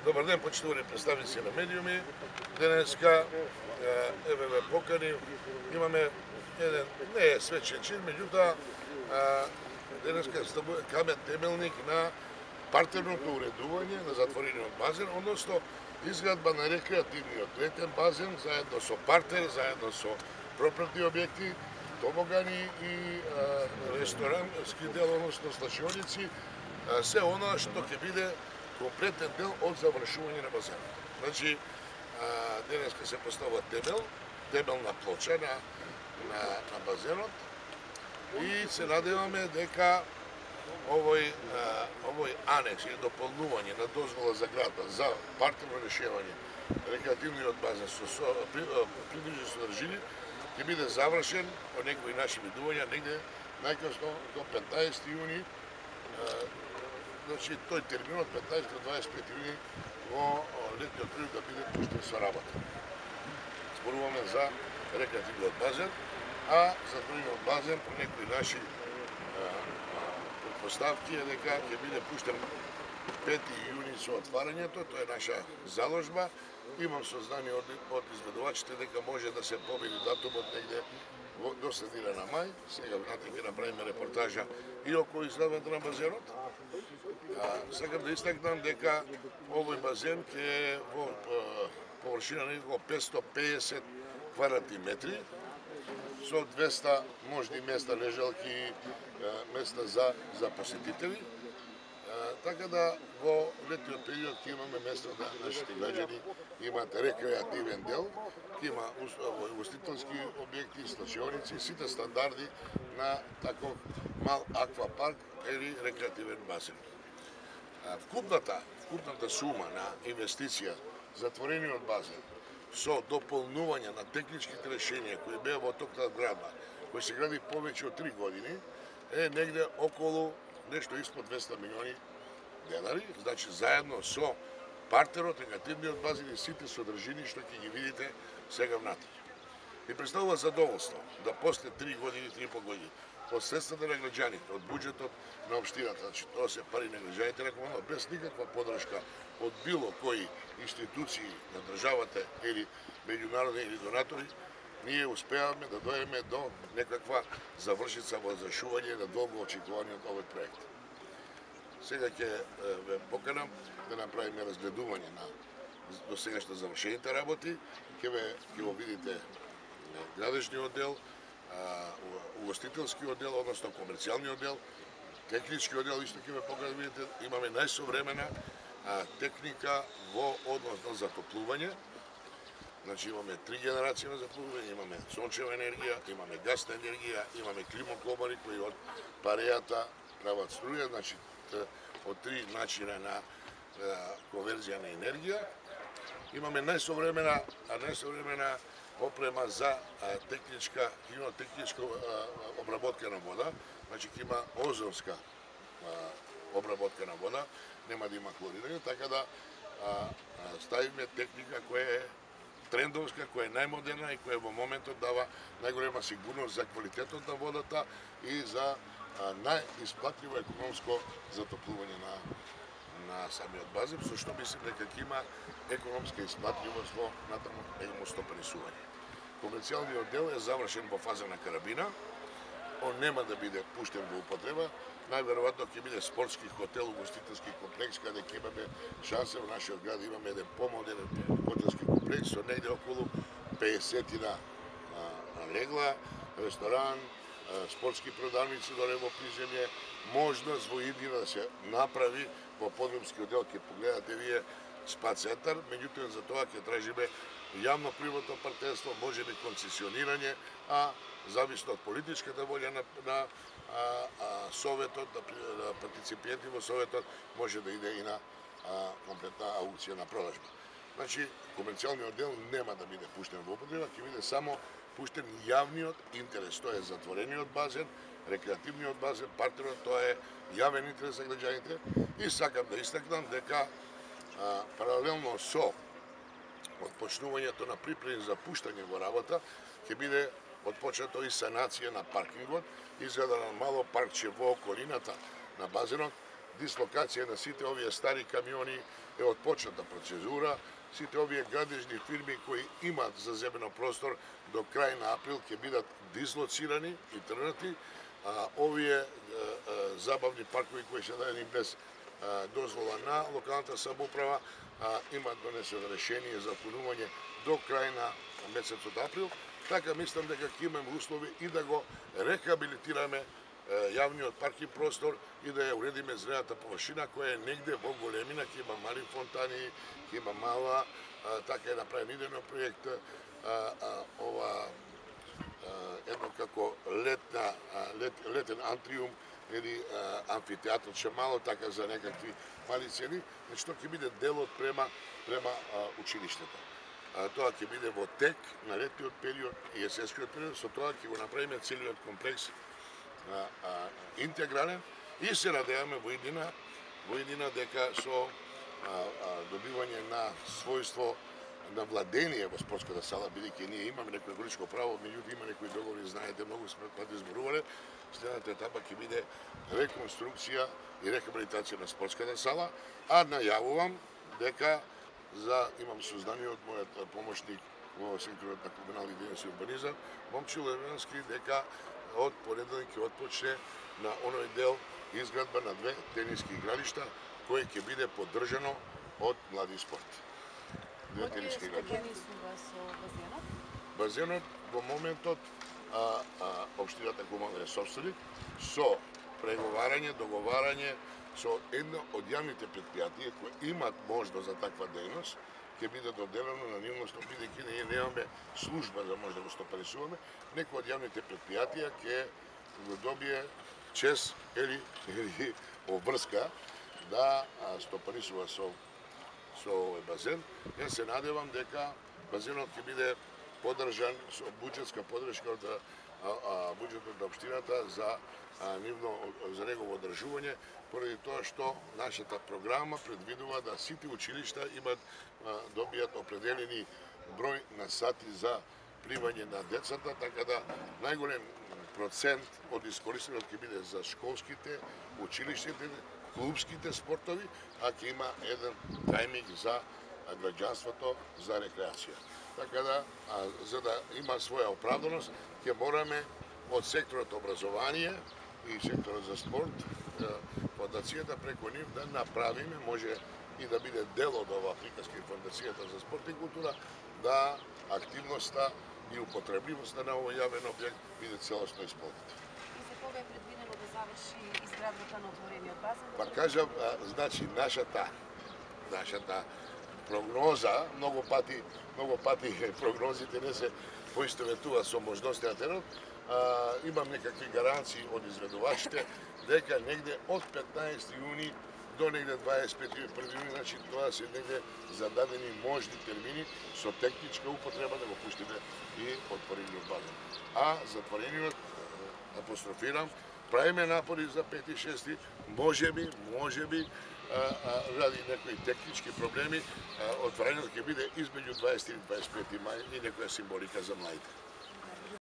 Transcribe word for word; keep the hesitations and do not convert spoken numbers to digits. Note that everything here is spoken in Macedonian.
Добар ден, почитувани представници на медиуми. Денеска еве ве покани, имаме еден не е свечен чин, меѓутоа денеска камен темелник на партерното уредување на затворениот базен, односно изградба на рекреативниот летен базен заедно со партер, заедно со пропратни објекти, тобогани и ресторански дел, односно слашионици, се она што ќе биде комплетен дел од завршување на базенот. Значи, денеска се поставува темел, темелна плоча на, на, на базенот и се надеваме дека овој, овој анекс и дополнување на дозвола за градба за партерно решување рекреативниот базен со, со придружни содржини ќе биде завршен по некои наши видувања негде најкасно до петнаесети јуни. Значи, тој термин од петнаесети до дваесет и пети јуни во летниот период да биде пуштен со работа. Зборуваме за рекреативниот базен, а затворениот базен по некои наши предпоставки е дека ќе биде пуштен пети јуни со отварањето, тоа е наша заложба. Имам сознание од, од изведувачите дека може да се помени датумот негде до средина на мај. Сега внатре ќе направиме репортажа и околу изградбата на базенот. А, сакам да истакнам дека овој базен ќе е во површина некако петстотини и педесет квадратни метри со двеста можни места лежалки, места за, за посетители. Така да во летниот период ќе имаме место да нашите граѓани имаат рекреативен дел, ќе има угостителски објекти, слашионици, сите стандарди на таков мал аквапарк или рекреативен базен. Вкупната, вкупната сума на инвестиција затворениот базен со дополнување на техничките решенија кои беа во ток на градба, кој се гради повеќе од три години, е негде околу нешто испод двеста милиони денари, значи заедно со партерот, рекреативниот базен и сите содржини што ќе ги видите сега внатре. И представува задоволство да после три години, три и по години, од средствата на граѓаните, од буџетот на општината, значи тоа се пари на граѓаните, рекомендно, без никаква подршка од било кои институции на државата или меѓународни или донатори, ние успеаваме да дојдеме до некаква завршица во завршување на долго очекуваниот овој проект. Сега ќе ве поканам да направиме разгледување на досегашно завршените работи, ќе ве ќе го видите градежниот дел, угостителскиот дел, односно комерцијалниот дел, техничкиот дел, исто ќе ве покажам да видите, имаме најсовремена техника во однос на затоплување. Значи имаме три генерации на затоплување, имаме сончева енергија, имаме гасна енергија, имаме климоклобари кои од парејата прават струја, значи од три начина на конверзија на енергија. Имаме најсовремена, а најсовремена опрема за техничка, химиотехничка обработка на вода, значи ќе има озонска обработка на вода, нема да има хлорирање, така да ставиме техника која е трендовска, која е најмодерна и која во моментот дава најголема сигурност за квалитетот на водата и за најисплатливо економско затоплување на на самиот базен, со што мислим дека ќе има економска исплатливост во натаму негово стопанисување. Комерцијалниот дел е завршен во фаза на карабина, он нема да биде пуштен во употреба, најверојатно ќе биде спортски хотел, угостителски комплекс, каде ќе имаме шанса во нашиот град, имаме еден помодерен хотелски комплекс со негде околу педесетина легла, ресторан, спортски продавници доле во приземје, можност во иднина да се направи во подземскиот дел, ќе погледате вие спа центар, меѓутоа за тоа ќе тражиме јавно-приватно партнерство, можеби концесионирање, а зависно од политичката волја на, на а, а, советот, на, на партиципиенти во советот, може да иде и на а, комплетна аукција на продажба. Значи, комерцијалниот дел нема да биде пуштен во употреба, ќе биде само пуштен јавниот интерес, тоа е затворениот базен, рекреативниот базен, партерот, тоа е јавен интерес за граѓаните. И сакам да истакнам дека а, паралелно со отпочнувањето на припреми за пуштање во работа, ќе биде отпочнато и санација на паркингот, изграда на мало паркче во околината на базенот, дислокација на сите овие стари камиони е отпочната процедура. Сите овие градежни фирми кои имаат заземено простор до крај на април ќе бидат дислоцирани и тргнати. А, овие а, а, забавни паркови кои се дадени без а, дозвола на локалната самоуправа а, имаат донесено решение за отклонување до крај на месецот април. Така мислам дека ќе имаме услови и да го рехабилитираме јавниот паркинг простор и да ја уредиме зелената површина која е негде во големина, ќе има мали фонтани, ќе има мала, а, така е направен идеен проект, а, а, ова а, едно како летна, а, лет, летен антриум или амфитеатор, че мало така за некакви мали цени, значи тоа ќе биде дел од према према а, училиштето. А, тоа ќе биде во тек на летниот период и есенскиот период, со тоа ќе го направиме целиот комплекс А, а, интегрален и се надеваме во иднина, во иднина дека со а, а, добивање на својство на владение во спортската сала, бидејќи ние имаме некој величко право, меѓутоа има некои договори, знаете, многу сме пати зборувале, следната етапа ќе биде реконструкција и рехабилитација на спортската сала, а најавувам дека за имам сознание од мојот помошник во секторот на комунални дејности и урбанизам, Момчил Левенски, дека од понеделник ќе отпочне на оној дел изградба на две тениски игралишта, кој ќе биде поддржано од Млади спорт. Две тениски игралишта. Базенот во моментот а, а, општината Куман е собственик со преговарање, договарање со едно од јавните предпријатија кои имаат можност за таква дејност, ќе биде доделено на нивност, бидејќи ние немаме служба за може да го стопанисуваме, некој од јавните предпријатија ќе го добие чест или, или обврска да стопанисува со, со овој базен. Јас се надевам дека базенот ќе биде поддржан со буџетска поддршка од буџетот на општината за а, нивно, за негово одржување, поради тоа што нашата програма предвидува да сите училишта имат а, добијат определени број на сати за примање на децата, така да најголем процент од искористениот ќе биде за школските, училиштите, клубските спортови, а ќе има еден тајминг за граѓанството за рекреација. Така да, а, за да има своја оправданост, ќе мораме од секторот образование и секторот за спорт, фондацијата преку нив да направиме, може и да биде дел од ова приказка и фондацијата за спорт и култура, да активноста и употребливоста на овој јавен објект биде целосно исполнета. И за кога е предвидено да заврши изградбата на отворениот базен? Па кажам, значи нашата нашата прогноза, многу пати, многу пати прогнозите не се поистоветува со можностите на теренот, а, имам некакви гаранции од изведувачите дека негде од петнаесети јуни до негде дваесет и пети јуни, значи тоа се негде зададени можни термини со техничка употреба да го пуштиме и отворениот базен. А затворениот, апострофирам, правиме напори за пети и шести, можеби, можеби, ради некои технички проблеми, отворањето ќе биде измеѓу дваесети и дваесет и пети мај и некоја символика за младите.